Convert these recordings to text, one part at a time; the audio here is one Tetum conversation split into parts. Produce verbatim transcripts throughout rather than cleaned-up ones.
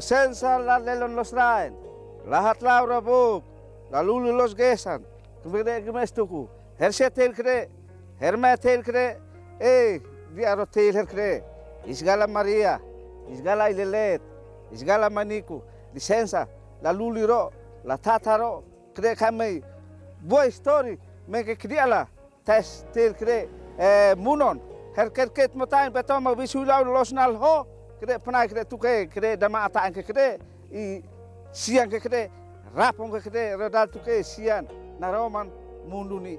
Lisensa la lelon loos rain, la hatlaura book, la luli loos gesan, kemede gemes tuku, herse tel kre, herme tel kre, e, di aro tel her kre, isgala Maria, isgala Ai-Lelet, isgala Maniku, lisensa, la luli ro, la tata ro, kre kamei, boa istori, meke kri ala, tes tel kre, e, munon, her kerket motain, beton ma bisu lau loos nal ho, kre panai kre tuke, kre dama ata angke kre, i siang ke kre, rapong ke kre, redal tuke, sian, naroman, mundu ni.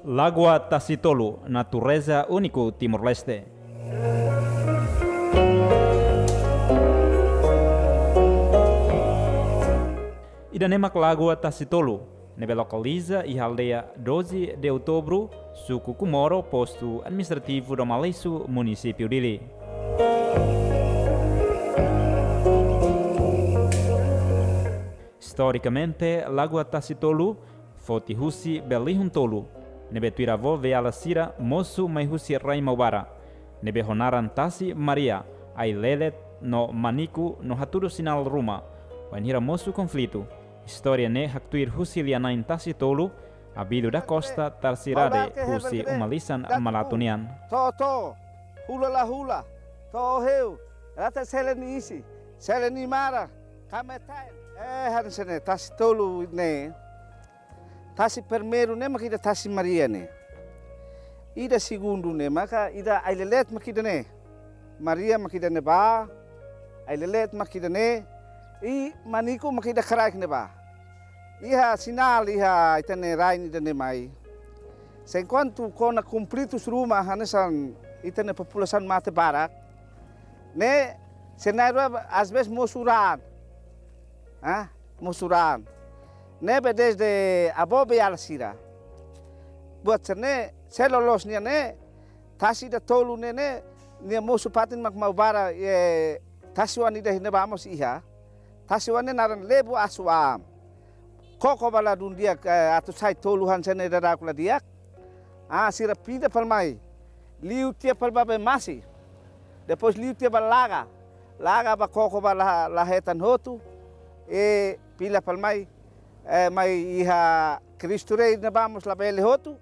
Lagoa Tasitolu, natureza úniku Timor-Leste. Ida-ne'e mak Lagoa Tasitolu, ne'ebé lokaliza iha aldeia doze de Outubro, suku Comoro, postu administrativu Domaleixo, munisípiu Dili. Istorikamente, Lagoa Tasitolu foti husi bee-lihun tolu, ne'ebé tuir avó-veala sira mosu mai husi rai Maubara, ne'ebé ho naran Tasi Maria, Ai-Lelet no Maniku no hatudu sinál ruma, bainhira mosu konflitu. Istória ne'e haktuir husi lia-na'in Tasitolu, Abílio da Costa Tarcirade, husi uma lisan Malatu nian. To'o, to'o, hula la hula, to'o heu, rate sele nia isin, sele nia maran, kametain. E, hanesan ne'e, Tasitolu ne'e. Tasi primeiru ne'e mak ida Tasi Maria ne'e. Ida segundu ne'e maka ida Ai-Lelet mak ida ne'e. Maria mak ida ne'ebá. Ai-Lelet mak ida ne'e. I Maniku mak ida kraik ne'ebá. Iha sinál iha ita-nia rain ida-ne'e mai. Se enkuantu kona konflitus ruma hanesan ita-nia populasaun mate barak. Ne'e, senáriu às vezes mosu raan. Ah, mosu raan. Ne'ebé desde avó-veala sira. Buat sira-ne'e, se loloos nian ne'e, tasi ida tolu ne'e ne'e, nia mosu fatin mak Maubara, e, tasi-oan ida ne'ebá mós iha. Tasi-oan ne'e naran Lebu Asu Aam. Koko ba ladún di'ak, e, atu sai tolu hanesan ne'e dadauk la di'ak. Ah, sira pinda fali mai. Liu tiha fali ba bee masi. Depois liu tiha ba laga. Laga ba koko ba la, la hetan hotu. E fila fali mai. E mai iha Cristo Rei ne'ebá mós labele hotu.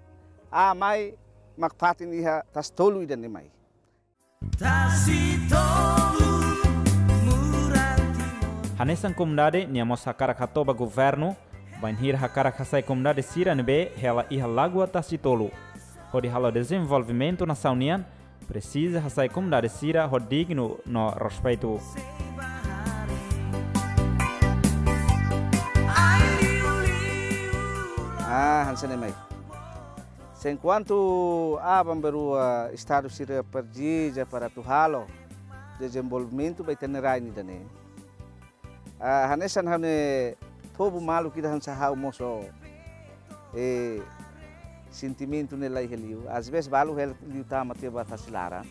Ah, mai mak fatin iha Tasitolu ida-ne'e mai. Tasitolu, Muran Timor. Hanesan komunidade, nia mós hakarak hato'o ba governu, bainhira hakarak hasai komunidade sira ne'ebé hela iha Lagoa Tasitolu. Hodi halo dezenvolvimentu nasaun nian, presiza hasai komunidade sira ho dignu no respeitu. Ah, hanesan ne'e mai. Se enkuantu aban-bainrua Estadu sira presiza para atu halo dezenvolvimentu ba ita-nia rain ida-ne'e. Ah, hanesan ha'u-nia povu maluk ida hanesan ha'u mós, e, sentimentu ne'e la iha liu. Às vezes balu hela liután mate ba tasi laran.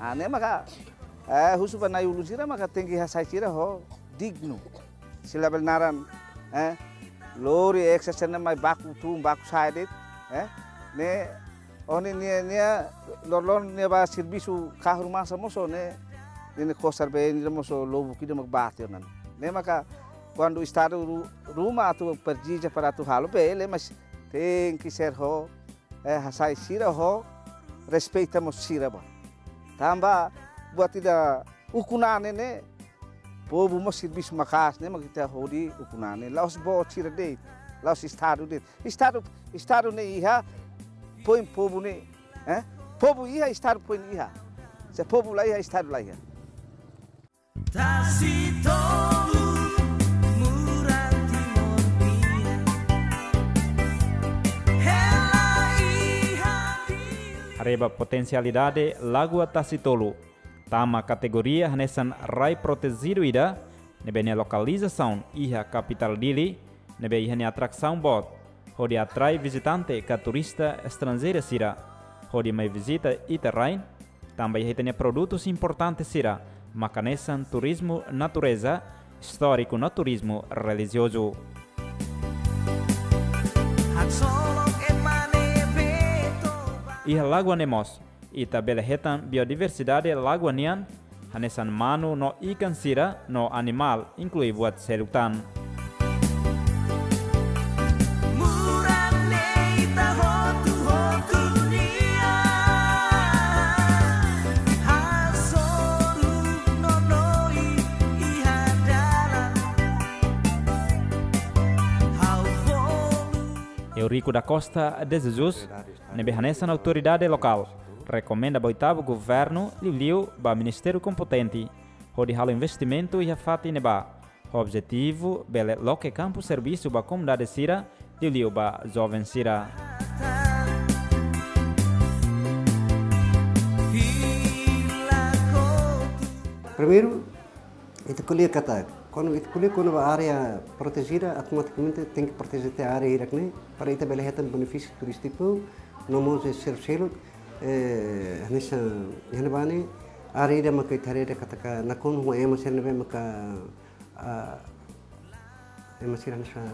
Ah, ne'e maka, e, husu ba na'i-ulun sira maka tenke hasai sira ho dignu. Sira labele naran, e, lori eksa sena mai baku tun, baku sai de'it, e, ne'e, oh, ne'e, ne'e, ne'e, loroloron ne'e ba servisu kahur masa mós ne'e, ne'e, ne'e kosar be ne'e mós lobuk ida mak bate ne'e. Ne'e maka, kuandu Estadu ru-, ruma atu presiza para atu halo, bele, mas tenke ser ho, e, hasai sira ho, respeita mós sira ba. Tanba buat ida ukun-an ne'e, povu mós servisu maka'as ne'e mak ita hodi ukun-an ne'e. La'ós boot sira de'it, la'ós Estadu de'it. Estadu, Estadu ne'e iha, foin povu ne'e, e? Povu iha, Estadu foin iha. Se povu la iha, Estadu la iha. Tasitolu, Muran Timor nian. Hela iha Dili. Haree ba potensialidade Lagoa Tasitolu. Tama kategoria hanesan rai protejidu ida, ne'ebé nia lokalizasaun iha kapitál Dili, ne'ebé iha nia atrasaun boot, hodi atrai vizitante ka turista estranjeiru sira, hodi mai vizita ita-nia rain, tanba iha ita-nia produtus importante sira, mak hanesan turizmu natureza, istóriku no turizmu relijiozu. Haksolok ema ne'ebé toba. Iha lagoa ne'e mós, Ita bele hetan biodiversidade lagoa nian, hanesan manu no ikan sira no animál, inklui buat seluk tan. Murak ne'e ita hotu-hotu nian, hasoru no doin iha dalan. Ha'u bolu. Eurico da Costa de Jesus, ne'ebé hanesan autoridade lokál, rekomenda ba oitavu governu liuliu ba ministériu kompetente hodi halo investimentu iha fatin ne'ebá. Objetivu bele loke kampu servisu ba komunidade sira, liuliu ba joven sira. Primeiru, ita ko'alia katak, kuandu ita ko'alia kona-ba área protejida, automatikamente tenke proteje tiha área hirak-ne'e, para ita bele hetan benefísiu turístiku, no mós seluk-seluk, eh, hanesan, iha ne'ebá ne'e, área ida maka ita haree katak nakonu ho ema sira ne'ebé maka, ah, ema sira hanesan,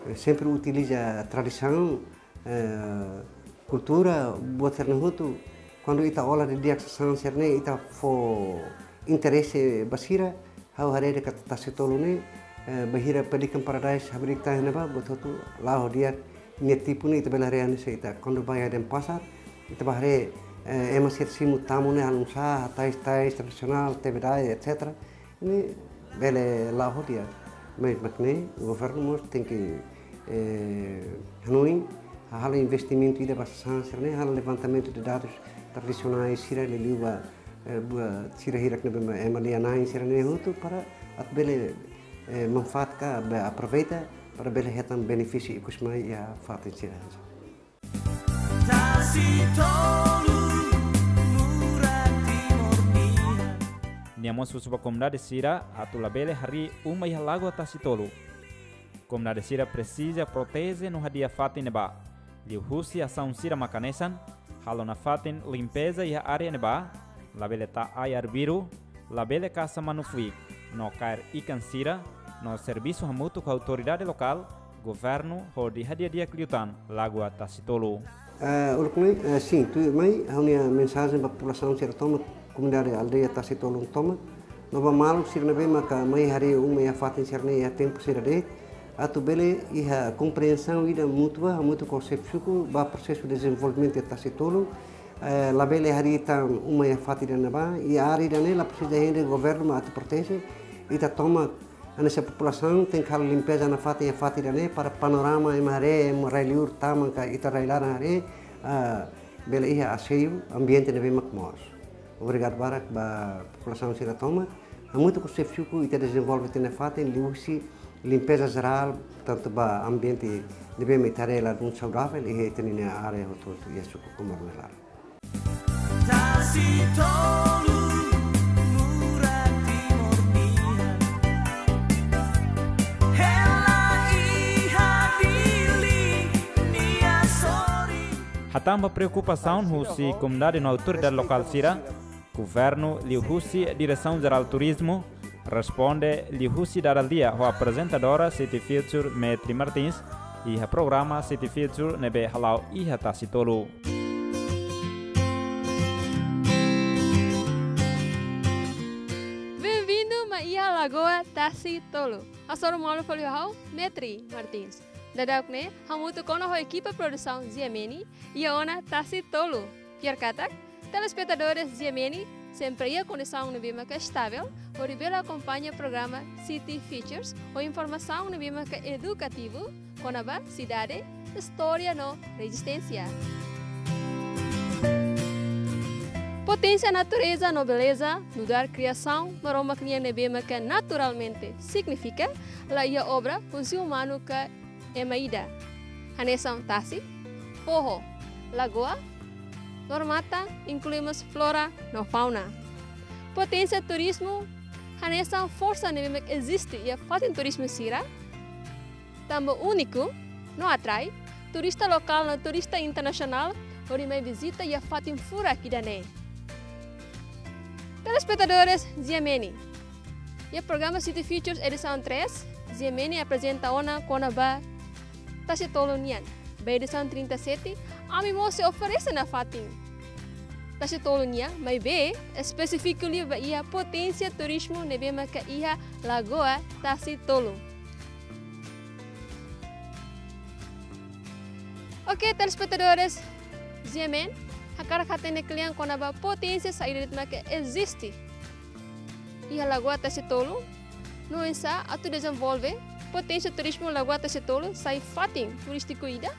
eh, sempre utiliza tradisaun, eh, kultura, buat sira-ne'e hotu, kuandu ita ola didi'ak sasán sira-ne'e, ita fó interese ba sira, ha'u haree katak Tasi Tolu ne'e, eh, bainhira Pelican Paradise habri'ik tiha iha ne'ebá, buat hotu la'o di'ak, nia tipu ne'e ita bele haree hanesan ita, kuandu bá iha Denpasar, ita bá haree, eh, ema sira simu tamu ne'e halo nusá, hatais tais tradisionál, tebedai, et cetera. Ne'e bele la'o di'ak. Mas mak ne'e, governu mós tenke, eh, hanoin, halo investimentu ida ba sasán sira-ne'e, halo levantamentu de dadus tradisionais sira liuliu ba, eh, buat sira hirak ne'ebé ema lia-na'in sira-ne'e hotu para atu bele, eh, manfaat ka bele aproveita para bele hetan benefísiu ikus mai iha fatin sira. Tasi Tolu, murak Timor nian. Nia mós husu ba komunidade sira atu labele harii uma iha lagoa Tasi Tolu. Komunidade sira presiza proteje no hadi'a fatin ne'ebá. Liuhusi asaun sira mak hanesan, halo nafatin limpeza iha área ne'ebá, labele tau ai arbiru, labele kasa manu fuik, no kaer ikan sira, no servisu hamutuk ho autoridade lokál, governu hodi hadi'a di'ak liután lagoa Tasi Tolu. Eh, uluk mai, eh, sin, tuirmai, ha'u-nia mensajen ba populasaun sira tomak, komunidade aldeia Tasi Tolu tomak, no ba maluk sira ne'ebé maka mai harii uma iha fatin sira-ne'e iha tempu sira de'it, atu bele iha komprensaun ida mútua, hamutuk ho xefe suku, ba prosesu dezenvolvimentu iha Tasi Tolu, eh, labele harii tan uma iha fatin ida-ne'ebá, iha área ida-ne'e la presiza hende governu mak atu proteje, ita tomak hanesan populasaun tenke halo limpeza nafatin iha fatin ida-ne'e para panorama ema haree, ema rai-liur tama ka ita rai-laran haree, ah, bele iha aseiu ambiente ne'ebé mak moos. Obrigadu barak ba populasaun sira tomak. Hamutuk ho xefe suku ita dezenvolve tiha ona fatin liuhusi limpeza jerál, tantu ba ambiente ne'ebé mak ita haree ladún saudavel iha ita-nia área hotu-hotu iha suku Comoro nia laran. Tasi Tolu, murak Timor nian. Hela iha Dili nia sorin. Hatán ba preokupasaun husi komunidade no autoridade lokál sira, governu liuhusi Diresaun Jerál Turizmu responde liuhusi dada lia ho aprezentadora City Future Metri Martins iha programa City Future ne'ebé hala'o iha Tasi Tolu. Bem-vindo mai iha Lagoa Tasi Tolu. Hasoru malu fali ho ha'u, Metri Martins. Dadauk ne'e, hamutuk ona ho ekipa produsaun Ziameni, iha ona Tasi Tolu. Fiar katak, telespetadores Ziameni sempre iha kondisaun ne'ebé maka estavel, hodi bele akompaña programa City Features, ho informasaun ne'ebé maka edukativu, kona-ba sidade, istória no rezisténsia. Poténsia natureza no beleza, nu'udar kriasaun Maromak nian ne'ebé maka naturalmente signifika, la iha obra husi umanu ka ema ida. Hanesan tasi, foho, lagoa, loro-matan, inklui mós flora no fauna. Poténsia turizmu, hanesan forsa ne'ebé mak eziste iha fatin turizmu sira, tanba úniku no atrai turista lokál no turista internasionál hodi mai vizita iha fatin furak ida-ne'e. Telespetadores Ziameni, iha programa City Features edisaun três, Ziameni aprezenta ona kona-ba Tasi Tolu nian. Ba edisaun trinta e sete, ami mós sei oferese nafatin. Tasi Tolu nian, maibé espesífiku liu ba iha poténsia turizmu ne'ebé maka iha Lagoa Tasi Tolu. Oke, telespetadores, G M N, hakarak hatene kle'an kona-ba poténsia saida de'it maka eziste iha Lagoa Tasi Tolu, no oinsá atu dezenvolve poténsia turizmu Lagoa Tasi Tolu sai fatin turístiku ida.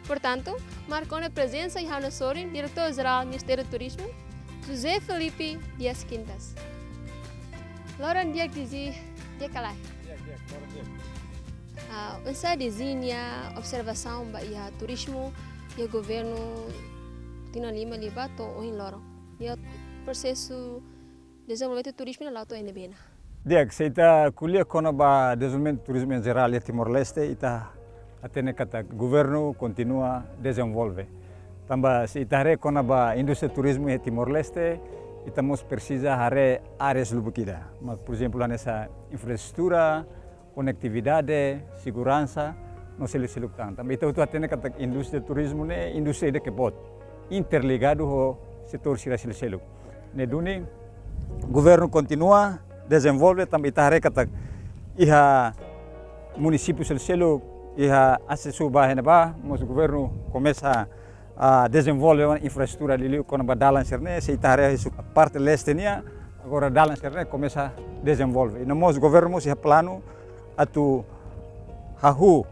Portantu, marka ona prezensa iha ha'u-nia sorin, Diretór Jerál Ministériu Turizmu, José Felipe Dias Quintas. Loron di'ak, D G, di'ak ka lae? Di'ak, di'ak, loron di'ak. Ah, oinsá D G nia observasaun ba iha turizmu iha governu tinan lima liubá to'o ohin loron? Iha prosesu dezenvolvimentu turizmu ne'e la'o to'o iha ne'ebé ona? Di'ak, se ita ko'alia kona-ba dezenvolvimentu turizmu em geral iha Timor-Leste, ita hatene katak governu kontinua dezenvolve. Tanba se ita haree kona-ba indústria turizmu iha Timor-Leste, ita mós presiza haree áreas lubuk ida. Mak, por ezemplu, hanesan infraestrutura, konetividade, seguransa, no seluk-seluk tan. Tanba ita hotu hatene katak indústria turizmu ne'e indústria ida ke boot, interligadu ho setór sira seluk-seluk. Ne'e duni governu kontinua dezenvolve, tanba ita haree katak iha munisípiu seluk-seluk, iha asesu ba iha ne'ebá, mós governu komesa, ah, dezenvolve infraestrutura liuliu kona-ba dalan sira-ne'e, se ita haree husi parte leste nian, agora dalan sira-ne'e komesa dezenvolve. I no mós governu mós iha planu atu hahú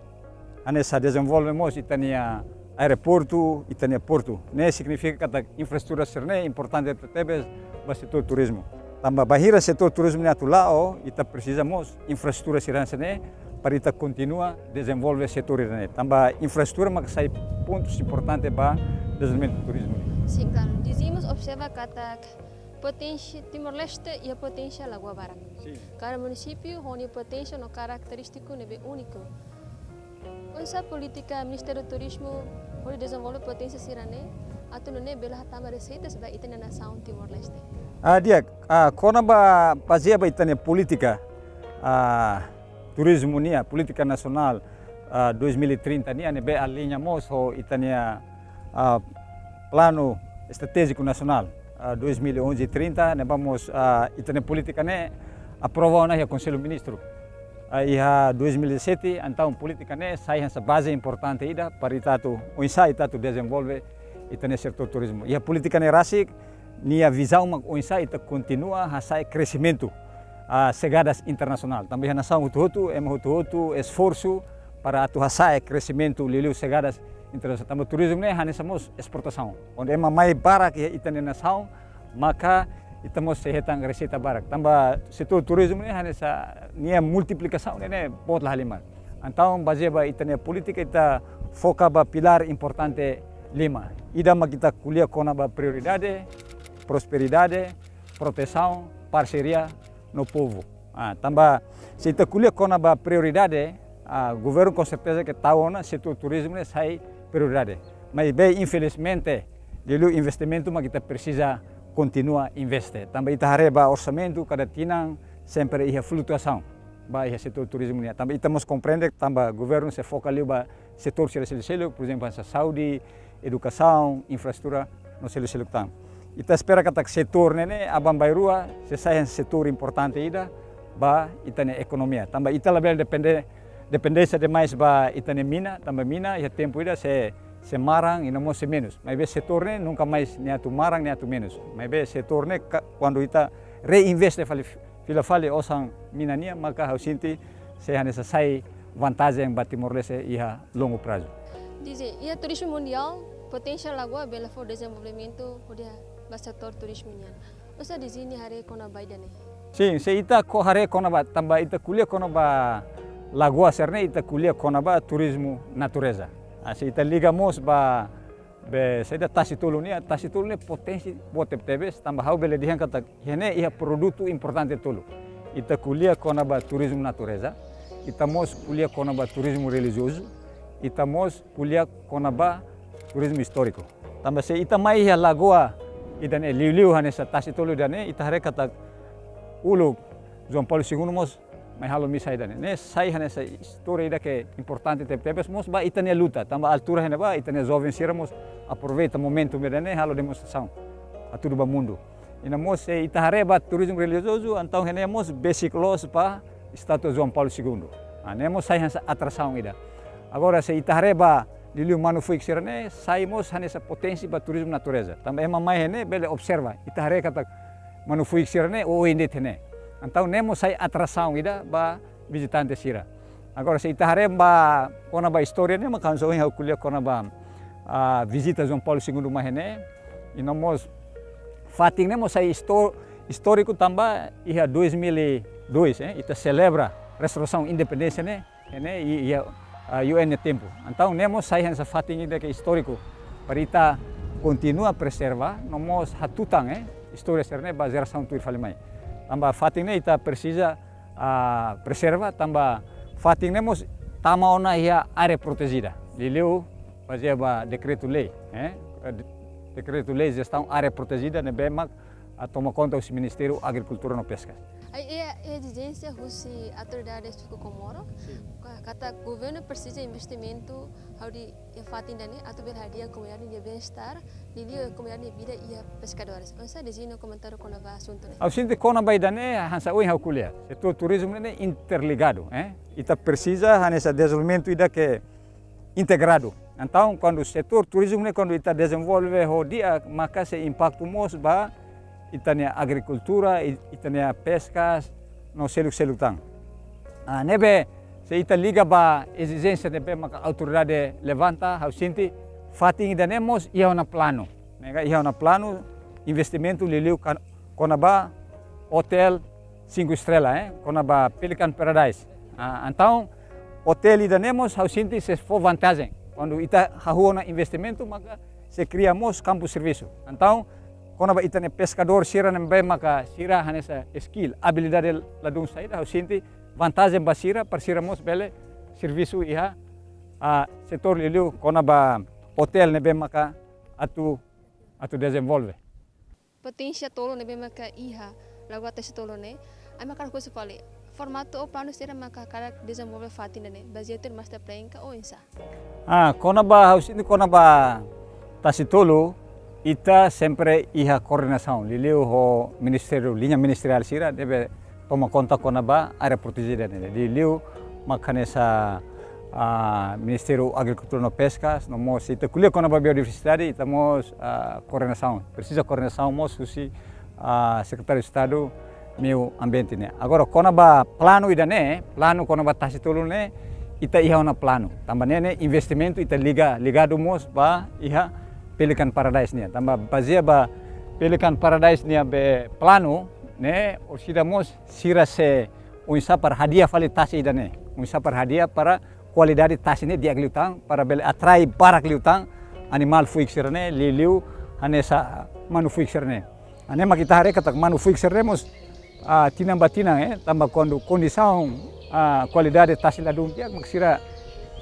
hanesan dezenvolve mós ita-nia aeroportu, ita-nia portu. Ne'e signifika katak infraestrutura sira-ne'e importante tebes ba setór turizmu. Tanba bainhira setór turizmu ne'e atu la'o, ita presiza mós infraestrutura sira hanesan ne'e para ita kontinua dezenvolve setór ida-ne'e. Tanba infraestrutura mak sai pontus importante ba dezenvolvimentu turizmu. Sin, klaru. D G mós observa katak poténsia Timor-Leste iha poténsia lagoa barak. Sin. Kada munisípiu ho nia poténsia no karakterístika ne'ebé úniku. Oinsá polítika Ministériu Turizmu hodi dezenvolve poténsia sira-ne'e atu nune'e bele hatama reseitas ba ita-nia nasaun Timor-Leste? Ah, di'ak, ah, kona-ba bazeia ba ita-nia polítika, ah, turizmu nian, polítika nasionál, ah, dois mil e trinta nian, ne'ebé aliña mós ho ita-nia, ah, planu estratéjiku nasionál, ah, dois mil e onze trinta, ne'ebá mós, ah, ita-nia polítika ne'e aprova ona iha Konsellu Ministru, ah, iha dois mil e dezassete, entaun polítika ne'e sai hanesan baze importante ida para ita atu, oinsá ita atu dezenvolve ita-nia setór turizmu. Iha polítika ne'e rasik, nia vizaun mak oinsá ita kontinua hasa'e kresimentu, ah, xegadas internasionál. Tanba iha nasaun hotu-hotu, ema hotu-hotu esforsu para atu hasa'e kresimentu liuliu xegadas internasionál. Tanba turizmu ne'e hanesan mós esportasaun. Kuandu ema mai barak iha ita-nia nasaun, maka ita mós sei hetan reseita barak. Tanba setór turizmu ne'e hanesan nia multiplikasaun ne'e, ne'e boot la halimar. Entaun, bazeia ba ita-nia polítika, ita foka ba pilár importante lima. Ida mak ita ko'alia kona-ba prioridade, prosperidade, protesaun, parseria no povu. Ah, tanba se ita ko'alia kona-ba prioridade, ah, governu konserteza ke tau ona setór turizmu ne'e sai prioridade. Maibé, infelizmente, liuliu investimentu mak ita presiza kontinua investe. Tanba ita haree ba orsamentu kada tinan sempre iha flutuasaun ba iha setór turizmu nian. Tanba ita mós komprende tanba governu sei foka liu ba setór sira seluk-seluk, por ezemplu, hanesan saúde, edukasaun, infraestrutura no seluk-seluk tan. Ita espera katak setór ne'e ne'e aban-bainrua sei sai hanesan setór importante ida ba ita-nia ekonomia. Tanba ita labele depende, dependénsia demais ba ita-nia mina, tanba mina iha tempu ida sei, sei maran i no mós sei menus. Maibé setór ne'e nunka mais nia atu maran, nia atu menus. Maibé setór ne'e ka-, kuandu ita reinveste fali, fila fali osan mina nian, maka ha'u sente sei hanesan sai vantajen ba Timor-Leste iha longu prazu. D G, iha turizmu mundiál, poténsia lagoa bele fó dezenvolvimentu hodi ba setór turizmu nian. Oinsá D G nia haree kona-ba ida-ne'e? Sin, se ita ko haree kona-ba, tanba ita ko'alia kona-ba lagoa sira-ne'e, ita ko'alia kona-ba turizmu natureza. Ah, se ita liga mós ba be saida, Tasi Tolu nian, Tasi Tolu ne'e poténsia boot tebetebes, tanba ha'u bele dehan katak iha ne'e iha produtu importante tolu. Ita ko'alia kona-ba turizmu natureza, ita mós ko'alia kona-ba turizmu relijiozu, ita mós ko'alia kona-ba turizmu istóriku. Tanba se ita mai iha lagoa ida-ne'e, liuliu hanesan Tasi Tolu ida-ne'e, ita haree katak uluk João Paulo Segundo mós mai halo misa ida-ne'e. Ne'e sai hanesan istória ida ke importante tebetebes mós ba ita-nia luta. Tanba altura iha ne'ebá, ita-nia joven sira mós aproveita momentu ida-ne'e halo demonstrasaun. hatudu ba mundu. I no mós se ita haree ba turizmu relijiozu, entaun ne'e mós besik loos ba estátua João Paulo Segundo. Ah, ne'e mós sai hanesan atrasaun ida. Agora se ita haree ba liuliu manu-fuik sira-ne'e, sai mós hanesan poténsia ba turizmu natureza. Tanba ema mai ne'e bele observa, ita haree katak manu-fuik sira-ne'e oioin de'it ne'e. Entaun ne'e mós sai atrasaun ida ba vizitante sira. Agora se ita haree ba kona-ba istória ne'e, mak hanesan ohin ha'u ko'alia kona-ba, ah, vizita João Paulo Segundo mai ne'e. I no mós fatin ne'e mós sai isto-, istóriku tanba iha dois mil e dois, eh, ita selebra restaurasaun independénsia ne'e, ne'e i, iha, ah, U N nia tempu. Entaun ne'e mós sai hanesan fatin ida ke istóriku para ita kontinua preserva, no mós hatutan, eh, istória sira-ne'e ba jerasaun tuir fali mai. Tanba fatin ne'e ita presiza, ah, preserva, tanba fatin ne'e mós tama ona iha área protejida. Liuliu bazeia ba dekretu-lei, eh, de-, dekretu-lei jestaun área protejida ne'ebé mak, ah, toma konta husi Ministériu Agrikultura no Peska. Ai, e, e ezijénsia husi autoridade suku Comoro, sin, ka-, katak governu presiza investimentu hodi iha fatin ida-ne'e atu bele hadi'a komunidade nia bem-estar, liuliu komunidade nia vida iha peskadores. Oinsá Dezina komentáriu kona-ba asuntu ne'e? Ha'u sente kona-ba ida-ne'e hanesan ohin ha'u ko'alia. Setór turizmu ne'e interligadu, eh. Ita presiza hanesan dezenvolvimentu ida ke integradu. Entaun, kuandu setór turizmu ne'e, kuandu ita dezenvolve ho di'ak, maka sei impaktu mós ba ita-nia agrikultura, i-, ita-nia peskas, no seluk-seluk tan. Ah, ne'ebé, se ita liga ba ezijénsia ne'ebé maka autoridade levanta, ha'u sente fatin ida-ne'e mós iha ona planu. Ne'e ka iha ona planu investimentu liuliu kan-, kona-ba otél cinco estrela, eh, kona-ba Pelican Paradise. Ah, entaun, otél ida-ne'e mós ha'u sente sei fó vantajen. Kuandu ita hahú ona investimentu, maka sei kria mós kampu servisu. Entaun, kona-ba ita-nia peskadór sira ne'ebé maka sira hanesan skill, abilidade ladún saida, ha'u sente vantajen ba sira, para sira mós bele servisu iha, ah, setór liuliu kona-ba otél ne'ebé maka atu, atu dezenvolve. Poténsia tolu ne'ebé maka iha Lagoa Tasi-Tolu ne'e, ami hakarak husu fali, formatu ou planu saida maka hakarak dezenvolve fatin ida-ne'e, bazeia tuir master plan ka oinsá? Ah, kona-ba, ha'u sente kona-ba Tasi-Tolu, ita sempre iha koordenasaun, liuliu ho ministériu, liña ministeriál sira ne'ebé toma konta kona-ba área protejida ne'e. Liuliu mak hanesan, ah, Ministériu Agrikultura no Peskas, no mós ita ko'alia kona-ba biodiversidade, ita mós, ah, koordenasaun. Presiza koordenasaun mós husi, ah, Sekretáriu Estadu Meiu Ambiente ne'e. Agora, kona-ba planu ida-ne'e, planu kona-ba Tasi-Tolu ne'e, ita iha ona planu. Tanba ne'e, ne'e investimentu ita liga, ligadu mós ba iha Pelican Paradise nian. Tanba bazeia ba Pelican Paradise nian be planu ne'e, orsida mós sira sei oinsá para hadi'a fali tasi ida-ne'e. Oinsá para hadi'a para kualidade tasi ne'e di'ak liután, para bele atrai barak liután animál fuik sira-ne'e, liuliu hanesan manu-fuik sira-ne'e. Ne'e mak ita haree katak manu-fuik sira-ne'e mós, ah, tinan ba tinan, eh, tanba kuandu kondisaun, ah, kualidade tasi ladún di'ak, mak sira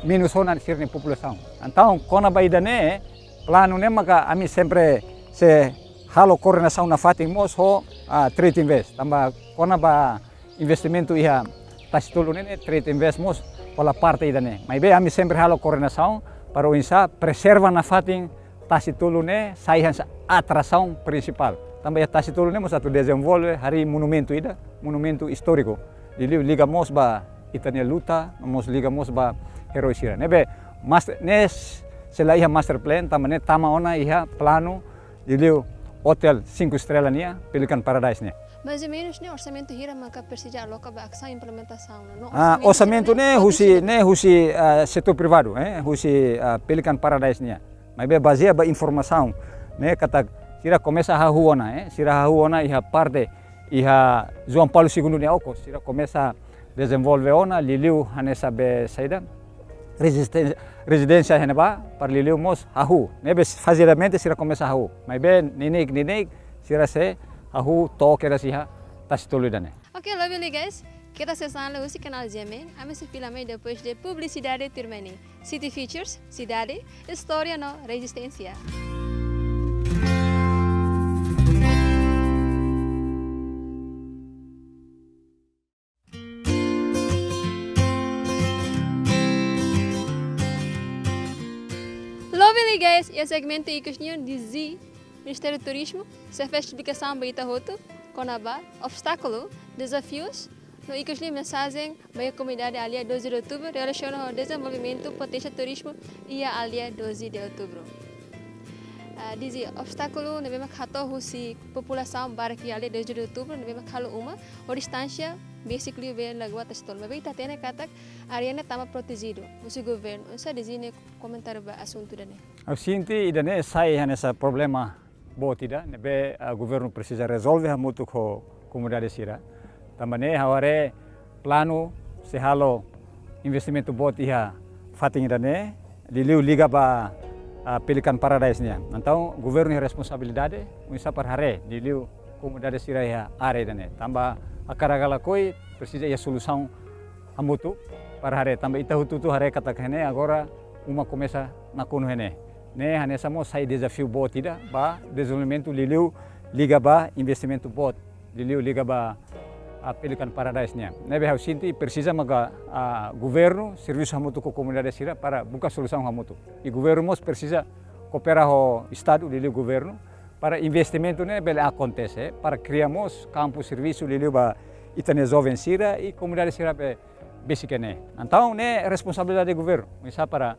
menus ona sira-nia populasaun. Entaun, kona-ba ida-ne'e, planu ne'e maka ami sempre sei halo koordenasaun nafatin mós ho, ah, Trade Invest. Tanba kona-ba investimentu iha Tasi-Tolu ne'e, ne'e Trade Invest mós hola parte ida-ne'e. Maibé ami sempre halo koordenasaun para oinsá preserva nafatin Tasi-Tolu ne'e sai hanesan atrasaun prinsipál. Tanba iha Tasi-Tolu ne'e mós atu dezenvolve harii monumentu ida, monumentu istóriku. Liuliu liga mós ba ita-nia luta, mós liga mós ba eroi sira. Ne'ebé, mas-, ne'e sei la iha master plan, tanba ne'e tama ona iha planu, liuliu otél cinco estrela nian, Pelican Paradise nian. Mais ou menus ne'e orsamentu hira maka presiza aloka ba asaun implementasaun, no? Ah, orsamentu ne'e husi, ne'e husi, ah, setór privadu, eh, husi, ah, Pelican Paradise nian. Maibé bazeia ba informasaun ne'e katak sira komesa hahú ona, eh, sira hahú ona iha parte, iha João Paulo Segundo nia okos, sira komesa dezenvolve ona, liuliu hanesan be saida, rezisten-, rezidénsia iha ne'ebá, para liuliu mós hahú. Ne'ebé fazidamente sira komesa hahú. Maibé neineik, neineik, sira sei hahú to'o kedas iha Tasi-Tolu ida-ne'e. Oke, lobi liu guys, keta sees an husi kanál G M N, ami sei fila mai depois de publisidade tuirmai ne'e. City Futures, sidade, istória no rezisténsia. Lobi liu guys, iha segmentu ikus nian Dezina Ministériu Turizmu sei fó esplikasaun ba ita hotu kona-ba obstákulu, dezafius no ikus liu mensajen ba iha komunidade aldeia doze de Outubro relasiona ho dezenvolvimentu poténsia turizmu iha aldeia doze de Outubro. Ah, dizia obstákulu ne'ebé mak hato'o husi populasaun barak iha aldeia doze de Outubro ne'ebé mak halo uma ho distánsia besik liu bee lagoa Tasi Tolu. Maibé ita hatene katak área ne'e tama protejidu husi governu. Oinsá dizia nia komentáriu ba asuntu ida-ne'e? Ha'u sente ida-ne'e sai hanesan problema boot ida ne'ebé, ah, governu presiza rezolve hamutuk ho komunidade sira. Tanba ne'e ha'u haree planu sei halo investimentu boot iha fatin ida-ne'e, liuliu liga ba, ah, Pelican Paradise nian. Entaun governu iha responsabilidade oinsá para haree liuliu komunidade sira iha área ida-ne'e. Tanba hakarak ka lakohi presiza iha solusaun hamutuk para haree. Tanba ita hotu-hotu haree katak iha ne'e agora uma komesa nakonu iha ne'e. Ne'e hanesan mós sai dezafiu boot ida ba dezenvolvimentu liuliu liga ba investimentu boot, liuliu liga ba, ah, Pelican Paradise nian. Ne'ebé ha'u sente presiza maka, ah, governu servisu hamutuk ho komunidade sira para buka solusaun hamutuk. I governu mós presiza koopera ho Estadu, liuliu governu, para investimentu ne'e bele akontese, para kria mós kampu servisu liuliu ba ita-nia joven sira i komunidade sira be besik iha ne'e. Entaun ne'e responsabilidade governu, oinsá para,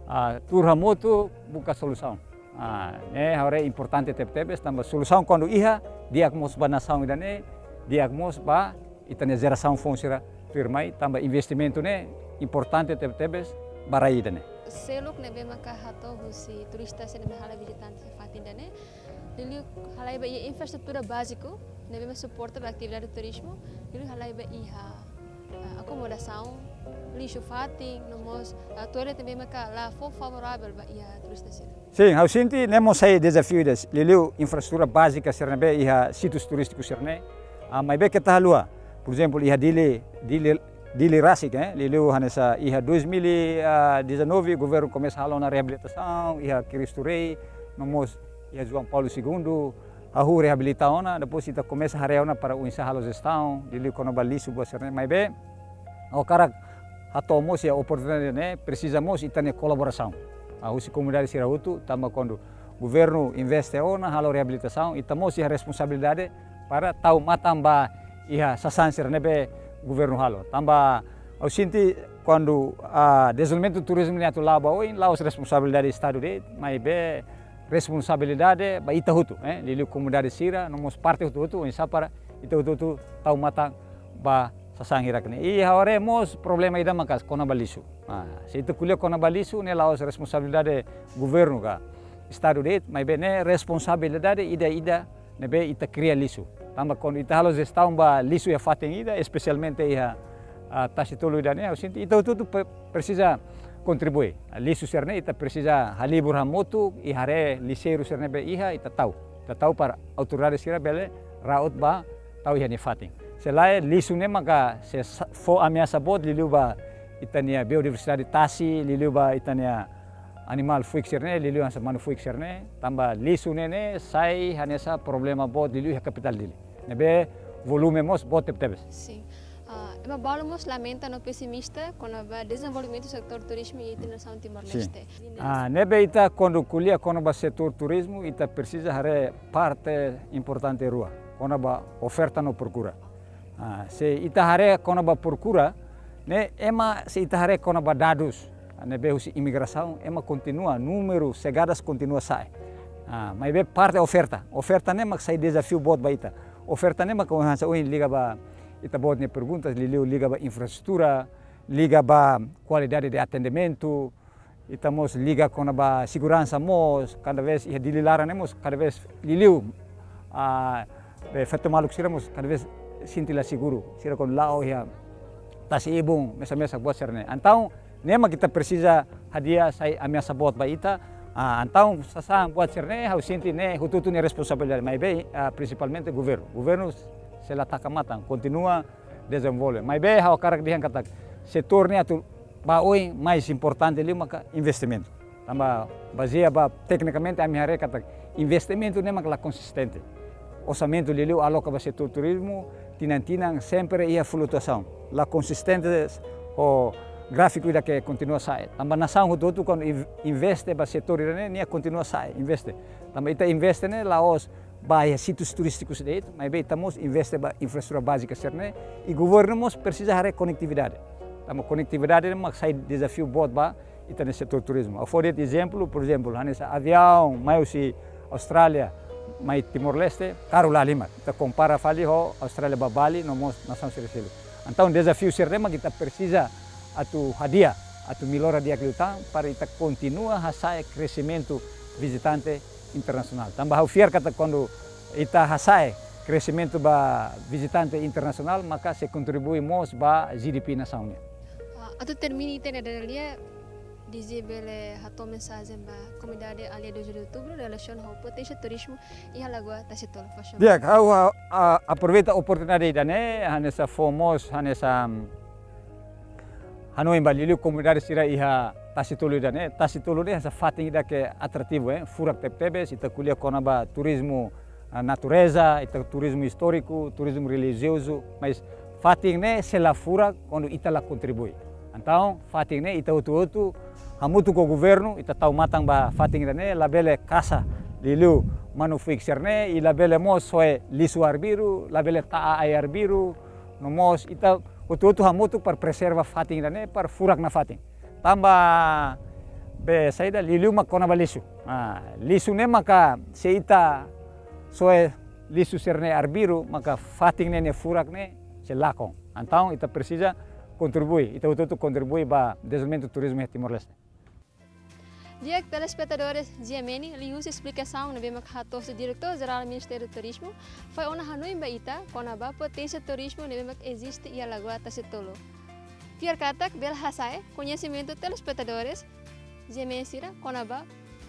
ah, tuur hamutuk buka solusaun. Ah, ne'e ha'u haree importante tebetebes, tanba solusaun kuandu iha, di'ak mós ba nasaun ida-ne'e, di'ak mós ba ita-nia jerasaun foun sira tuirmai, tanba investimentu ne'e importante tebetebes ba rai ida-ne'e. Seluk ne'ebé maka hato'o husi turista sira ne'ebé halai vizitante iha fatin ida-ne'e, liuliu halai ba iha infraestrutura báziku ne'ebé mak suporta ba atividade turizmu, liuliu halai ba iha, ah, akomodasaun, lixu fatin, no mós, ah, toilet ne'ebé maka la fó favoravel ba iha turista sira. Sin, ha'u sente ne'e mós sai dezafiu ida, liuliu infraestrutura bázika sira ne'ebé iha sítiu turístiku sira-ne'e. Ah, maibé keta haluha, por ezemplu, iha Dili, Dili, Dili rasik, eh, liuliu hanesan iha dois mil e dezanove governu komesa halo ona reabilitasaun iha Cristo Rei, no mós iha João Paulo Segundo, hahú reabilita ona, depois ita komesa haree ona para oinsá halo jestaun, liuliu kona-ba lixu buat sira-ne'e. Maibé ha'u hakarak hato'o mós iha oportunidade ne'e, presiza mós ita-nia kolaborasaun, ah, husi komunidade sira hotu, tanba kuandu governu investe ona halo reabilitasaun, ita mós iha responsabilidade para tau matan ba iha sasán sira ne'ebé governu halo. Tanba ha'u sente kuandu, ah, dezenvolvimentu turizmu ne'e atu la'o ba oin, la'ós responsabilidade Estadu de'it, maibé responsabilidade ba ita hotu, eh, liuliu komunidade sira, no mós parte hotu-hotu, oinsá para ita hotu-hotu tau matan ba sasán hirak-ne'e. I ha'u haree mós problema ida maka'as kona-ba lixu. Ah, se ita ko'alia kona-ba lixu, ne'e la'ós responsabilidade governu ka Estadu de'it, maibé ne'e responsabilidade ida-idak ne'ebé ita kria lixu. Tanba kuandu ita halo jestaun ba lixu iha fatin ida, espesialmente iha, ah, Tasi Tolu ida-ne'e, ha'u sente ita hotu-hotu pre-, presiza kontribui. Ah, lixu sira-ne'e ita presiza halibur hamutuk i haree lixeiru sira ne'ebé iha ita tau. Ita tau para autoridade sira bele ra'ot ba tau iha nia fatin. Se lae lixu ne'e maka sei sa-, fó ameasa boot liuliu ba ita-nia biodiversidade tasi, liuliu ba ita-nia animál fuik sira-ne'e, liuliu hanesan manu fuik sira-ne'e, tanba lixu ne'e ne'e sai hanesan problema boot liuliu iha kapitál Dili. Ne'ebé volume mós boot tebetebes. Sin. Ah, ema balu mós lamenta no pesimista kona-ba dezenvolvimentu setór turizmu iha ita-nia nasaun Timor-Leste. Sin. Ah, ne'ebé ita kuandu ko'alia kona-ba setór turizmu, ita presiza haree parte importante rua, kona-ba oferta no prokura. Ah, se ita haree kona-ba prokura, ne'e ema, se ita haree kona-ba dadus ne'ebé husi imigrasaun, ema kontinua, númeru segadas kontinua sa'e. Ah, maibé parte oferta. Oferta ne'e mak sai dezafiu boot ba ita. Oferta ne'e mak hanesan ohin liga ba ita-boot nia perguntas, liuliu liga ba infraestrutura, liga ba kualidade de atendimentu, ita mós liga kona-ba seguransa mós, kada vez iha Dili laran ne'e mós, kada vez liuliu, ah, be feto maluk sira mós, kada vez sente la seguru. Sira kuandu la'o iha tasi-ibun, mesak-mesak buat sira-ne'e. Entaun, ne'e mak ita presiza hadi'a sai ameasa boot ba ita. Ah, entaun, sasán buat sira-ne'e, ha'u sente ne'e, hotu-hotu nia responsabilidade. Maibé, ah, prinsipalmente governu. Governu sei la taka matan, kontinua dezenvolve. Maibé ha'u hakarak dehan katak setór ne'e atu ba oin mais importante liu maka investimentu. Tanba bazeia ba teknikamente ami haree katak investimentu ne'e maka la konsistente. Orsamentu liuliu aloka ba setór turizmu, tinan-tinan sempre iha flutuasaun. La konsistente ho gráfiku ida ke kontinua sa'e. Tanba nasaun hotu-hotu kuandu inv-, investe ba setór ida-ne'e, nia kontinua sa'e, investe. Tanba ita investe ne'e la'ós ba iha sítiu turístiku de'it, maibé ita mós investe ba infraestrutura bázika sira-ne'e, i governu mós presiza haree konetividade. Tanba konetividade ne'e mak sai dezafiu boot ba ita-nia setór turizmu. Ha'u fó de'it ezemplu, por ezemplu, hanesan aviaun mai husi Austrália mai Timor-Leste, karu lahalimar. Ita kompara fali ho Austrália ba Bali, no mós nasaun sira seluk. Entaun, dezafiu sira-ne'e mak ita presiza atu hadi'a, atu mellora di'ak liután, para ita kontinua hasa'e kresimentu vizitante internasionál. Tanba ha'u fiar katak kuandu ita hasa'e kresimentu ba vizitante internasionál, maka sei kontribui mós ba G D P nasaun nian. Ah, atu termina ita-nia dada lia, Dizzy bele hato'o mensajen ba komunidade aldeia doze de Outubro relasiona ho potensiál turizmu iha Lagoa Tasitolu, faz favor. Di'ak, ha'u, a, a, aproveita oportunidade ida-ne'e, hanesan fó mós, hanesan, mm, hanoin ba liuliu komunidade sira iha Tasitolu ida-ne'e. Tasitolu ne'e hanesan fatin ida ke atrativu, eh, furak tebetebes, ita ko'alia kona-ba turizmu, ah, natureza, ita turizmu istóriku, turizmu relijiozu, mas fatin ne'e sei la furak kuandu ita la kontribui. Entaun, fatin ne'e ita hotu-hotu, hamutuk ho governu, ita tau matan ba fatin ida-ne'e, labele kasa liuliu manu-fuik sira-ne'e, i labele mós soe lixu arbiru, labele ta'a ai arbiru, no mós ita hotu-hotu hamutuk para preserva fatin ida-ne'e, para furak nafatin. Tanba be saida liuliu mak kona-ba lixu. Ah, lixu ne'e maka se ita soe lixu sira-ne'e arbiru, maka fatin ne'e nia furak ne'e sei lakon. Entaun, ita presiza kontribui, ita hotu-hotu kontribui ba dezenvolvimentu turizmu iha Timor-Leste. Di'ak, telespetadores GMN, liuhusi esplikasaun ne'ebé mak hato'o husi Diretór Jerál Ministériu Turizmu, fó ona hanoin ba ita kona-ba potensiál turizmu ne'ebé mak eziste iha Lagoa Tasitolu. Fiar katak bele hasa'e koñesimentu telespetadores GMN sira kona-ba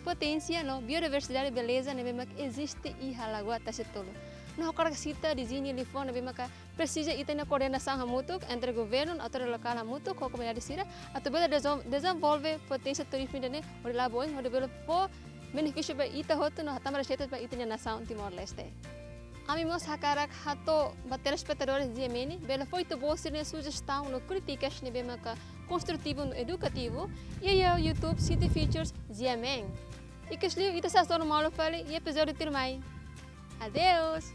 poténsia no biodiversidade, beleza ne'ebé mak eziste iha Lagoa Tasitolu. No hakarak sita dezeñu liafuan ne'ebé maka presiza ita-nia koordenasaun hamutuk entre governu, autoridade lokál hamutuk ho komunidade sira, atu bele dezon-, dezenvolve poténsia turizmu ida-ne'e hodi la'o ba oin, hodi bele fó benefísiu ba ita hotu no hatama reseita ba ita-nia nasaun Timor-Leste. Ami mós hakarak hato'o ba telespetadores GMN, bele fó ita-boot sira-nia sujestaun no krítikas ne'ebé maka konstrutivu no edukativu, iha YouTube City Features GMN. I kedas liu ita sei hasoru malu fali iha epizódiu tuirmai. Adeus!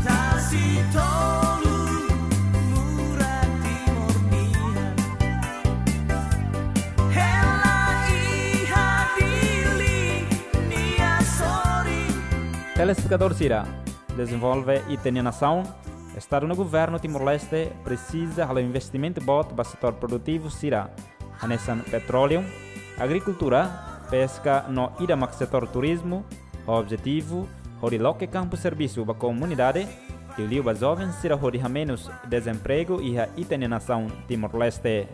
Tasitolu, murak Timor nian. Hela iha Dili nia sorin. Telespetadór sira, dezenvolve ita-nia nasaun, Estadu no Governu Timor-Leste presiza halo investimentu boot ba setór produtivu sira, hanesan petróleu, agrikultura, peska no ida mak setór turizmu, ho objetivu hodi loke kampu servisu ba komunidade, liuliu ba joven sira hodi hamenus dezempregu iha ita-nia nasaun Timor-Leste.